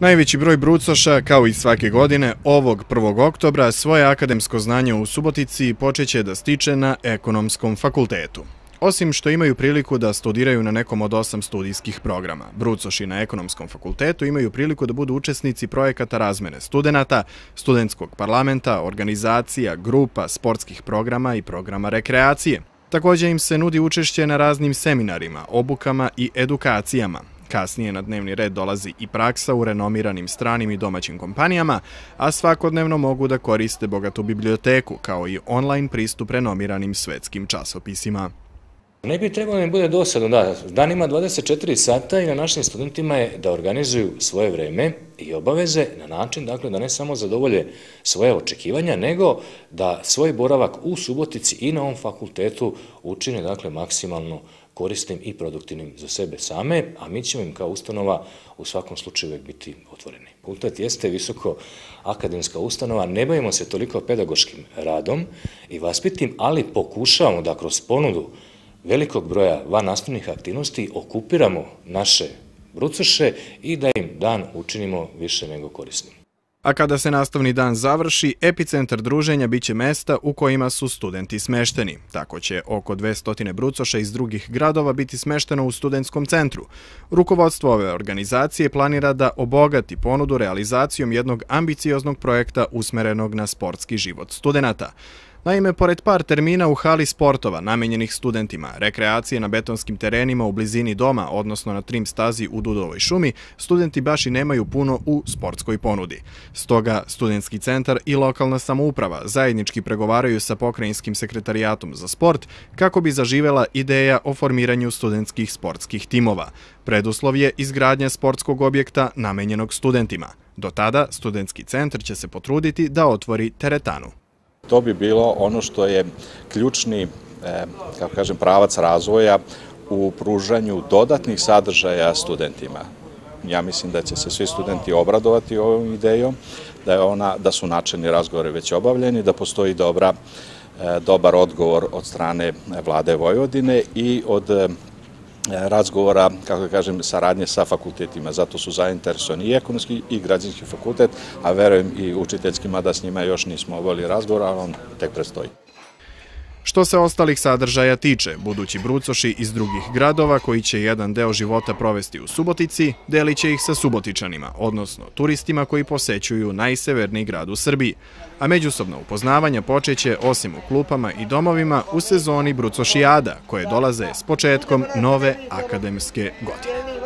Najveći broj brucoša, kao i svake godine, ovog 1. oktobra svoje akademsko znanje u Subotici počeće da stiče na Ekonomskom fakultetu. Osim što imaju priliku da studiraju na nekom od 8 studijskih programa, brucoši na Ekonomskom fakultetu imaju priliku da budu učesnici projekata razmene studenata, studentskog parlamenta, organizacija, grupa, sportskih programa i programa rekreacije. Također im se nudi učešće na raznim seminarima, obukama i edukacijama. Kasnije na dnevni red dolazi i praksa u renomiranim stranim i domaćim kompanijama, a svakodnevno mogu da koriste bogatu biblioteku, kao i online pristup renomiranim svetskim časopisima. Ne bi trebalo da im bude dosadno, da, dan ima 24 sata i na našim studentima je da organizuju svoje vreme i obaveze na način, dakle, da ne samo zadovolje svoje očekivanja, nego da svoj boravak u Subotici i na ovom fakultetu učine, dakle, maksimalno korisnim i produktivnim za sebe same, a mi ćemo im kao ustanova u svakom slučaju uvijek biti otvoreni. Fakultet jeste visoko akademska ustanova, ne bavimo se toliko pedagoškim radom i vaspitnim, ali pokušavamo da kroz ponudu velikog broja vannastavnih aktivnosti okupiramo naše brucoše i da im dan učinimo više nego korisnim. A kada se nastavni dan završi, epicentar druženja biće mesta u kojima su studenti smešteni. Tako će oko 200 brucoša iz drugih gradova biti smešteno u studentskom centru. Rukovodstvo ove organizacije planira da obogati ponudu realizacijom jednog ambicioznog projekta usmerenog na sportski život studenata. Naime, pored par termina u hali sportova namenjenih studentima, rekreacije na betonskim terenima u blizini doma, odnosno na trim stazi u Dudovoj šumi, studenti baš i nemaju puno u sportskoj ponudi. Stoga, studentski centar i lokalna samouprava zajednički pregovaraju sa pokrajinskim sekretarijatom za sport kako bi zaživela ideja o formiranju studentskih sportskih timova. Preduslov je izgradnja sportskog objekta namenjenog studentima. Do tada, studentski centar će se potruditi da otvori teretanu. To bi bilo ono što je ključni, kako kažem, pravac razvoja u pružanju dodatnih sadržaja studentima. Ja mislim da će se svi studenti obradovati ovom idejom, da su načelni razgovori već obavljeni, da postoji dobar odgovor od strane Vlade Vojvodine i od razgovora, kako da kažem, saradnje sa fakultetima. Zato su zainteresovani i ekonomski i građanski fakultet, a verujem i učiteljski, mada s njima još nismo obavili razgovor, ali on tek predstoji. Što se ostalih sadržaja tiče, budući brucoši iz drugih gradova koji će jedan deo života provesti u Subotici, delit će ih sa Subotičanima, odnosno turistima koji posećuju najseverniji grad u Srbiji. A međusobno upoznavanja počeće, osim u klupama i domovima, u sezoni brucošijada, koje dolaze s početkom nove akademske godine.